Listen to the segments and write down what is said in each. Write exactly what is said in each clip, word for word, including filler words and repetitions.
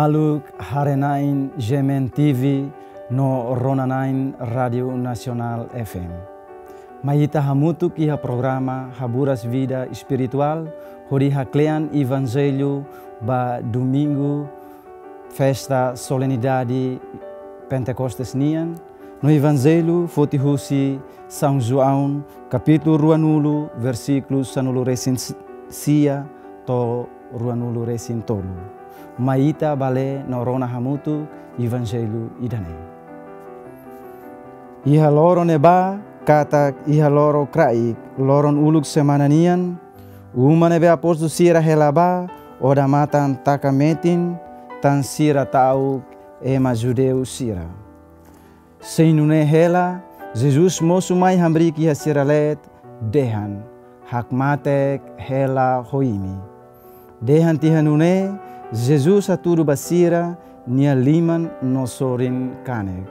Maluk haree-na'in G M N T V no rona-na'in Rádiu Nasionál F M. Mai ita hamutuk iha programa Haburas Vida Espirituál, hodi haklean Evanjellu ba Domingu, festa solenidade Pentekostes nian, no Evanjellu foti husi São João, kapítulu ruanulu, versíkulu sanulu-resin-sia to'o ruanulu-resin-tolu. Mai ita bá lee no rona hamutuk Evanjellu ida-ne'e. Iha loron ne'ebá, katak iha loron kraik, loron uluk semana nian, uma ne'ebé apóstolu sira hela bá, odamatan taka metin, tan sira ta'uk ema judeu sira. Sei nune'e hela, Jesus mosu mai hamriik iha sira leet, dehan: Hakmatek hela ho imi. Dehan tiha nune'e, Jesus hatudu ba sira nia liman no sorin kanek.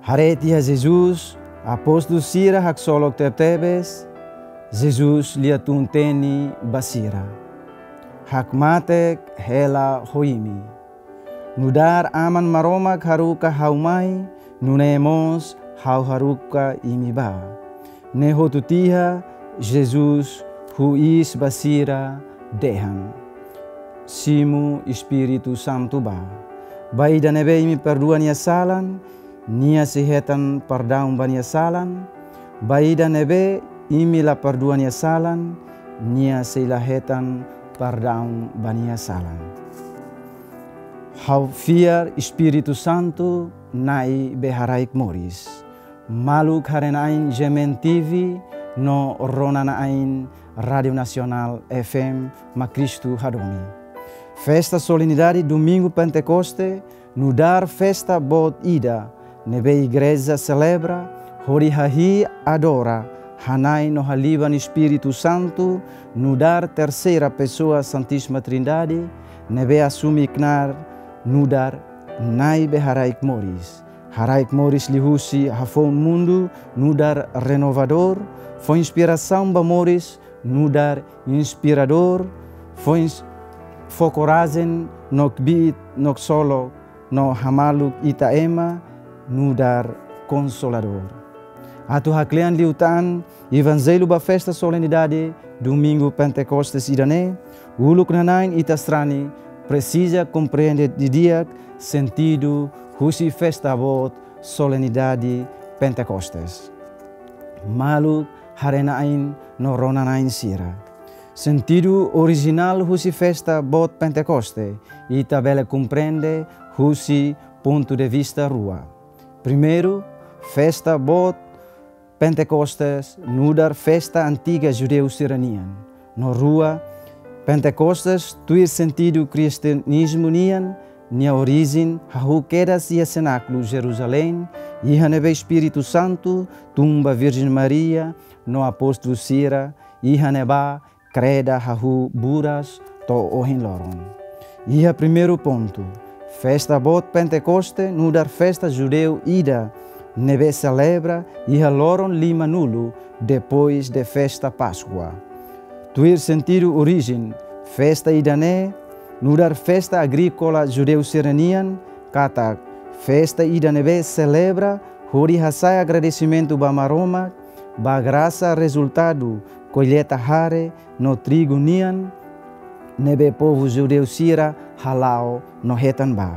Haree tiha Jesus, apóstolu sira haksolok tebetebes, Jesus lia tun-teni ba sira: Hakmatek hela ho imi. Nu'udar Aman Maromak haruka ha'u mai, nune'e mós ha'u haruka imi bá. Ne'e hotu tiha, Jesus huis ba sira, dehan: Simu Espíritu Santu bá. Ba ida ne'ebé imi perdua nia salan, nia sei hetan perdaun ba nia salan. Ba ida ne'ebé imi la perdua nia salan, nia sei la hetan perdaun ba nia salan. Ha'u fiar Espíritu Santu, Na'i be haraik moris. Maluk haree-na'in G M N T V no rona-na'in Rádiu Nasionál F M, mak Kristu hadomi. Festa solenidade Domingu Pentekoste nu'udar festa boot ida ne'ebé igreja selebra hodi hahi'i, adora, hana'i no haliban Espíritu Santu, nu'udar terseira pesoa Santísima Trindade, ne'ebé asume knaar nu'udar Na'i be haraik moris. Haraik moris liuhusi hafoun mundu nu'udar renovadór, fó inspirasaun ba moris nu'udar inspiradór, fó ins-, fó korajen no kbiit no ksolok, no hamaluk ita ema nu'udar konsoladór. Atu haklean liután Evanjellu ba festa solenidade Domingu Pentekostes ida-ne'e, uluk nana'in ita sarani presiza komprende didi'ak sentidu husi festa boot solenidade Pentekostes. Maluk haree-na'in no rona-na'in sira. Sentidu orijinál husi festa boot Pentekoste, ita bele komprende husi pontu de vista rua. Primeiru, festa boot Pentekostes nu'udar festa antiga judeu sira-nian. No rua, Pentekostes tuir sentidu kristianizmu nian, nia orijen hahú kedas iha senákulu Jerusalém, iha ne'ebé Espíritu Santu tun ba Virjen Maria no apóstolu sira, iha ne'ebá kreda hahú buras to'o ohin loron. Iha primeiru pontu, festa boot Pentekoste nu'udar festa judeu ida ne'ebé selebra iha loron limanulu depois de festa Páskua. Tuir sentidu orijen, festa ida-ne'e nu'udar festa agríkola judeu sira-nian, katak festa ida ne'ebé selebra hodi hasa'e agradesimentu ba Maromak, ba grasa rezultadu kolleita hare no trigu nian, ne'ebé povu judeu sira hala'o no hetan bá.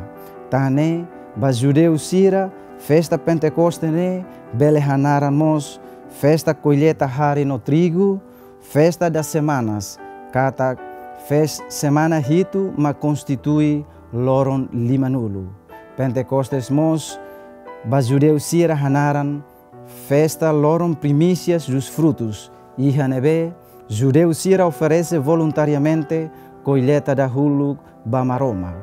Tan ne'e, ba judeu sira, festa Pentekoste ne'e bele hanaran mós festa kolleita hare no trigu, festa das semanas, katak fes-, semana hitu mak konstitui loron limanulu. Pentekostes mós, ba judeu sira hanaran festa loron primísias dos frutos, iha ne'ebé judeu sira oferese voluntariamente kolleita dahuluk ba Maromak.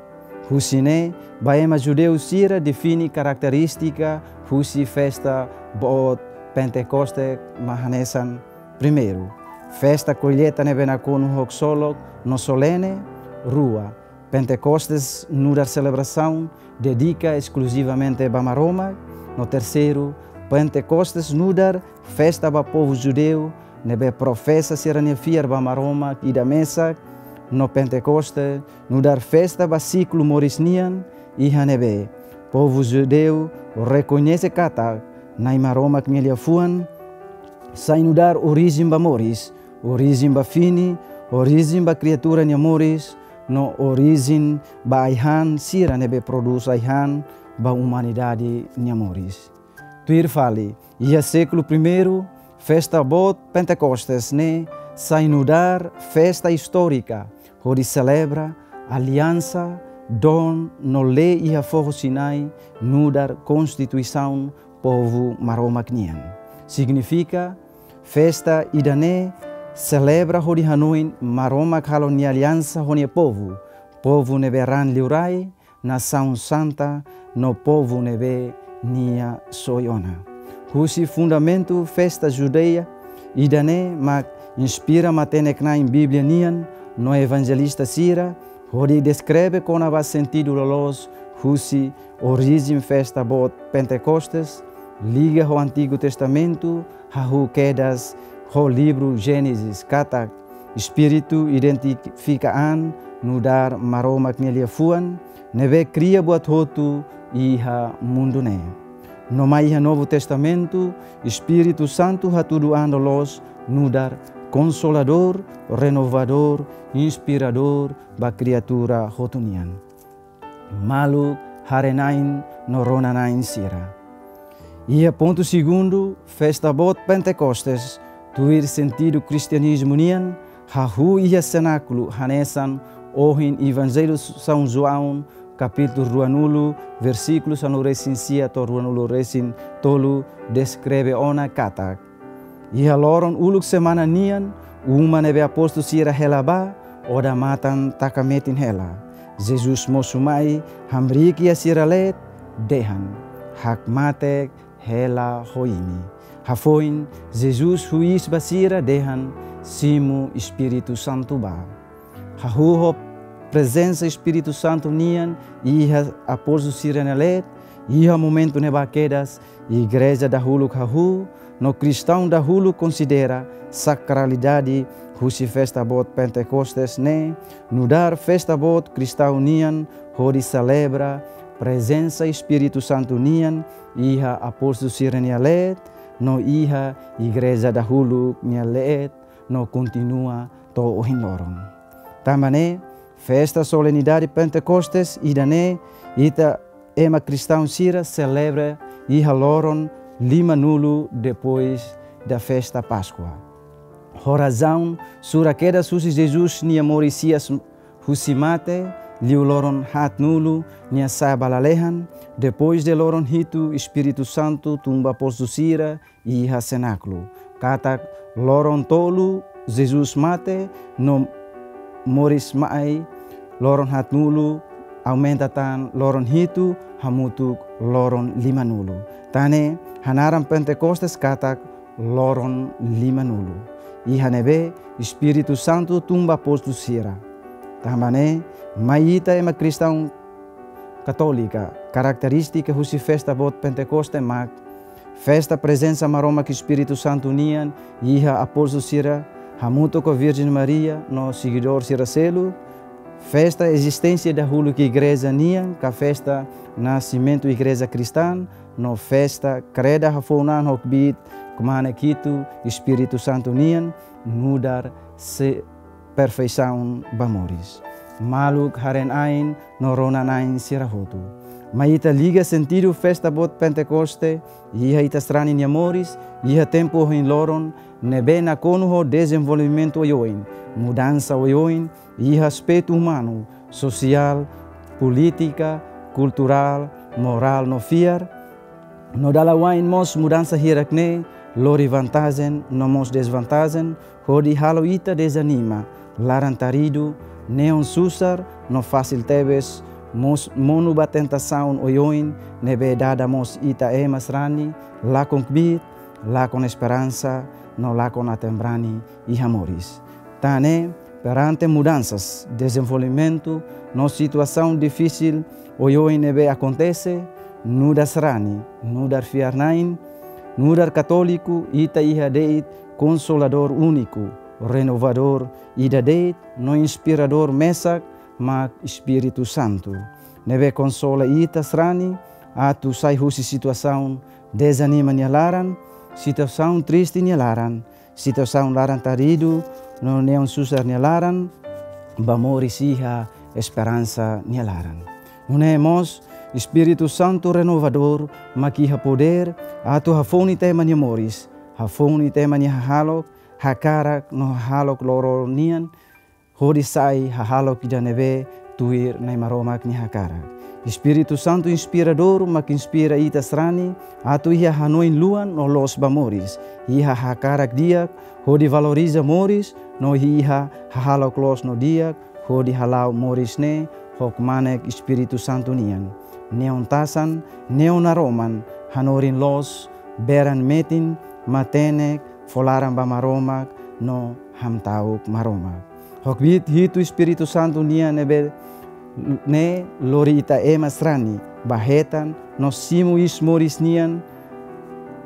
Husi ne'e, ba ema judeu sira define karakterístika husi festa boot Pentekoste mak hanesan: primeiru, festa kolleita ne'ebé nakonu ho ksolok no solene. Rua, Pentekostes nu'udar selebrasaun dedika eskluzivamente ba Maromak. No terseiru, Pentekostes nu'udar festa ba povu judeu ne'ebé profesa sira-nia fiar ba Maromak ida mesak, no Pentekoste nu'udar festa ba siklu moris nian, iha ne'ebé povu judeu rekoñese katak Na'i Maromak nia liafuan sai nu'udar orijen ba moris, orijen ba fini, orijen ba kriatura nia moris, no orijen ba ai-han sira ne'ebé prodús ai-han ba umanidade nia moris. Tuir fali, iha sékulu primeiru, festa boot Pentekostes ne'e sai nu'udar festa istórika hodi selebra aliansa, don no lei iha foho Sinai nu'udar konstituisaun povu Maromak nian. Signifika, festa ida-ne'e selebra hodi hanoin Maromak halo nia aliansa ho nia povu, povu ne'ebé raan liurai, nasaun santa, no povu ne'ebé nia soe ona. Husi fundamentu festa judeu ida-ne'e mak inspira matenek-na'in Bíblia nian no evanjelista sira hodi deskreve kona-ba sentidu loloos husi orijen festa boot Pentekostes, liga ho Antigu Testamentu, hahú kedas ho livru Génesis katak Espíritu identifika an nu'udar Maromak nia liafuan ne'ebé kria buat hotu iha mundu ne'e. No mai iha Novu Testamentu, Espíritu Santu hatudu an loloos nu'udar Konsoladór, Renovadór, Inspiradór ba kriatura hotu nian. Maluk haree-na'in no rona-na'in sira, iha pontu segundu, festa boot Pentekostes, tuir sentidu kristianizmu nian, hahú iha senákulu hanesan ohin Evanjellu São João, kapítulu ruanulu, versíkulu sanulu-resin-sia to'o ruanulu-resin-tolu, deskreve ona katak iha loron uluk semana nian, uma ne'ebé apóstolu sira hela ba, odamatan taka metin hela. Jesus mosu mai, hamriik iha sira leet, dehan: Hakmatek hela ho imi. Hafoin, Jesus huis ba sira dehan: Simu Espíritu Santu ba. Hahú ho prezensa Espíritu Santu nian iha apóstolu sira-nia leet, iha momentu ne'ebá kedas, igreja dahuluk hahú, no kristaun dahuluk konsidera sakralidade husi festa boot Pentekostes ne'e nu'udar festa boot kristaun nian hodi selebra prezensa Espíritu Santu nian iha apóstolu sira-nia leet, no iha igreja dahuluk nia leet, no kontinua to'o ohin loron. Tanba ne'e, festa solenidade Pentekostes ida-ne'e ita ema kristaun sira selebra iha loron limanulu depois da festa Páskua. Ho razaun sura kedas husi Jesus nia moris hi'as husi mate, liu loron haatnulu nia sa'e ba lalehan, depois de loron hitu Espíritu Santu tun ba apóstolu sira iha senákulu. Katak loron tolu Jesus mate no moris mai, loron haatnulu aumenta tan loron hitu hamutuk loron limanulu. Tan ne'e hanaran Pentekostes katak loron limanulu. Iha ne'ebé Espíritu Santu tun ba apóstolu sira. Tanba ne'e, mai ita ema kristaun katólika, karakterístika husi festa boot Pentekostes mak festa prezensa Maromak Espíritu Santu nian iha apóstolu sira hamutuk ho Virjen Maria no segidór sira seluk, festa ezisténsia dahuluk igreja nian, ka festa nasimentu igreja kristaun, no festa kreda hafoun an ho kbiit kmanek hitu Espíritu Santu nian, nu'udar se perfeisaun ba moris. Maluk haree-na'in no rona-na'in sira hotu, mai ita liga sentidu festa boot Pentekostes iha ita sarani nia moris, iha tempu ohin loron ne'ebé nakonu ho dezenvolvimentu oioin, mudansa oioin iha aspetu umanu, sosiál, polítika, kulturál, morál no fiar. No dala wa'in mós mudansa hirak-ne'e lori vantajen no mós dezvantajen, hodi halo ita dezanima, laran taridu, neon susar, no fasil tebes mós monu ba tentasaun oioin ne'ebé dada mós ita ema sarani lakon kbiit, lakon esperansa, no lakon aten-brani iha moris. Tan ne'e, perante mudansas, dezenvolvimentu, no situasaun difisil oioin ne'ebé akontese, nu'udar sarani, nu'udar fiar-na'in, nu'udar katóliku, ita iha de'it Konsoladór úniku, renovadór ida de'it no inspiradór mesak mak Espíritu Santu. Ne'ebé konsola ita sarani atu sai husi situasaun dezanima nia laran, situasaun triste nia laran, situasaun laran-taridu no neon susar nia laran, ba moris iha esperansa nia laran. Nune'e mós, Espíritu Santu renovadór mak iha podér atu hafoun ita ema nia moris, hafoun ita ema nia hahalok, hakarak no hahalok loron nian, hodi sai hahalok ida ne'ebé tuir Na'i Maromak nia hakarak. Espíritu Santu inspiradór mak inspira ita sarani atu iha hanoin luan no loos ba moris, iha hakarak di'ak hodi valoriza moris, no iha hahalok loos no di'ak hodi hala'o moris ne'e ho kmanek Espíritu Santu nian. Neon tasan, neon naroman, hanorin loos, beran metin, matenek, fó laran ba Maromak no hamta'uk Maromak. Ho kbiit hitu Espíritu Santu nian ne'ebé ne'e lori ita ema sarani ba hetan no simu iis moris nian,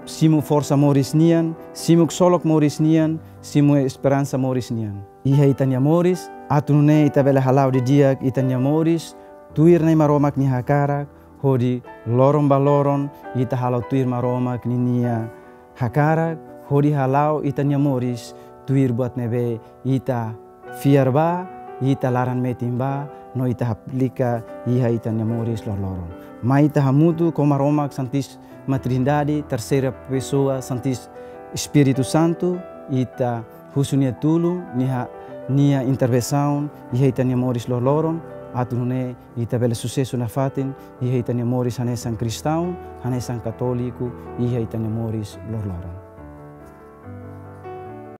simu forsa moris nian, simu ksolok moris nian, simu esperansa moris nian iha ita-nia moris, atu nune'e ita bele hala'o didi'ak ita-nia moris tuir Na'i Maromak nia hakarak, hodi loron ba loron ita hala'o tuir Maromak ninia hakarak, hodi hala'o ita-nia moris tuir buat ne'ebé ita fiar ba, ita laran metin ba, no ita aplika iha ita-nia moris loroloron. Mai ita hamutuk ho Maromak Santísima Trindade, terseira pesoa Santis-, Espíritu Santu, ita husu nia tulun, nia, nia intervensaun iha ita-nia moris loroloron, atu nune'e ita bele susesu nafatin iha ita-nia moris hanesan kristaun, hanesan katóliku, iha ita-nia moris loroloron.